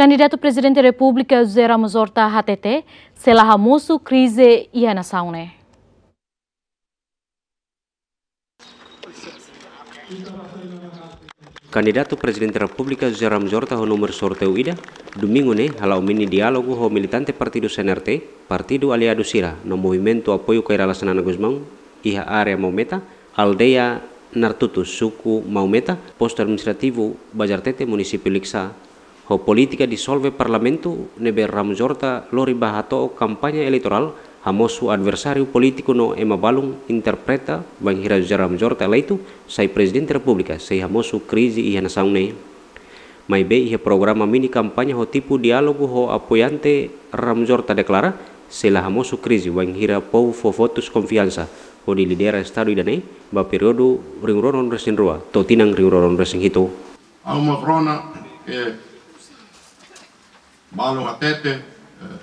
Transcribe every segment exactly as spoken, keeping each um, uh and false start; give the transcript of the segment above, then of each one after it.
Kandidatu Prezidente Repúblika José Ramos Horta hatete, sei la hamosu krize iha nasaun ne'e. Kandidatu Prezidente Repúblika José Ramos Horta ho númeru sorteiu ida, domingu ne'e hala'o mini diálogu ho militante partidu C N R T, partidu aliadu sira, no movimentu apoiu Kay Rala Xanana Gusmão, iha área Maumeta, aldeia Nartutu, suku Maumeta, postu administrativu Bazartete, munisípiu Likisá, ho polítika disolve parlamentu ne'ebé Ramos Horta lori ba hato'o kampaña eleitorál, hamosu adversáriu polítiku no ema balun interpreta bainhira José Ramos Horta eleitu sai Prezidente Repúblika sei hamosu krize iha nasaun ne'e. Maibé iha programa mini kampaña ho tipu diálogu ho apoiante, Ramos Horta deklara sei la hamosu krize bainhira povu fó votus konfiansa hodi lidera Estadu ida-ne'e ba períodu rihun rua ruanulu-resin-rua to'o tinan rihun rua ruanulu-resin-hitu. Ha'u mós rona ke balun hatete, eh,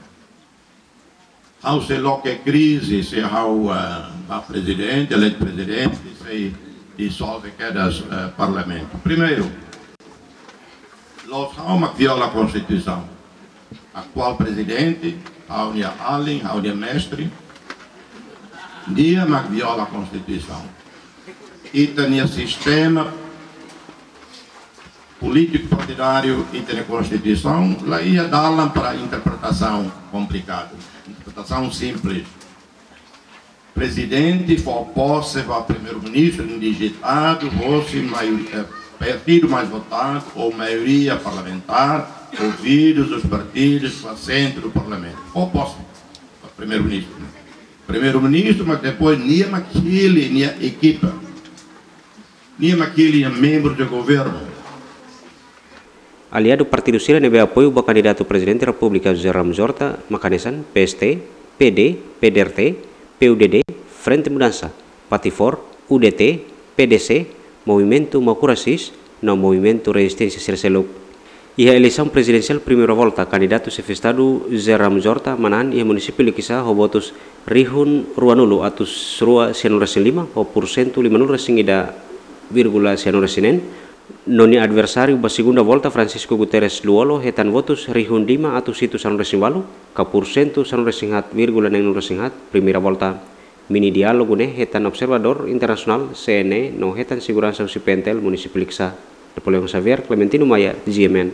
ha'u sei loke krize se ha'u, eh, ba prezidente, eleitu prezidente, sei disolve kedas, eh, parlamentu. Primeiru, la'ós ha'u mak viola Konstituisaun. Atuál prezidente, ha'u-nia alin, ha'u-nia mestre, nia mak viola Konstituisaun. Ita-nia sistema polítiku partidáriu, ita-nia Konstituisaun, la iha dalan para interpretasaun komplikadu. Interpretasaun simples. Prezidente fó pose ba primeiru-ministru indigitadu, hosi maior-, eh, partidu mais votado ou maioria parlamentar, ouvidos os partidos, ba sentru do parlamentu. Fó pose ba primeiru-ministru. Primeiru-ministru, mas depois nia mak hili nia ekipa. Nia mak hili nia membru de governu. Aliadu partidu sira ne'ebé apoiu ba kandidatu Prezidente Repúblika José Ramos Horta mak hanesan P S T, P D, P D R T, P U D D, Frente Mudansa, Patifor, U D T, P D C, Movimentu Makura Sis, no Movimentu Rezisténsia sira seluk. Iha eleisaun prezidensiál primeira volta, kandidatu xefe Estadu José Ramos Horta manán iha munisípiu Likisá ho votus rihun ruanulu atus rua sianulu-resin-lima, ho pursentu limanulu-resin-ida vírgula sianulu-resin-neen, no nia adversáriu ba segunda volta, Francisco Guterres Lú-Olo, hetan votus rihun lima atus hitu sanulu-resin-ualu, ka pursentu sanulu-resin-haat vírgula neenulu-resin-haat, primeira volta. Mini diálogu ne'e hetan observadór internasionál, C N E, no hetan seguransa husi P N T L munisípiu Likisá. Napoleão Xavier, Clementino Maia, G M N.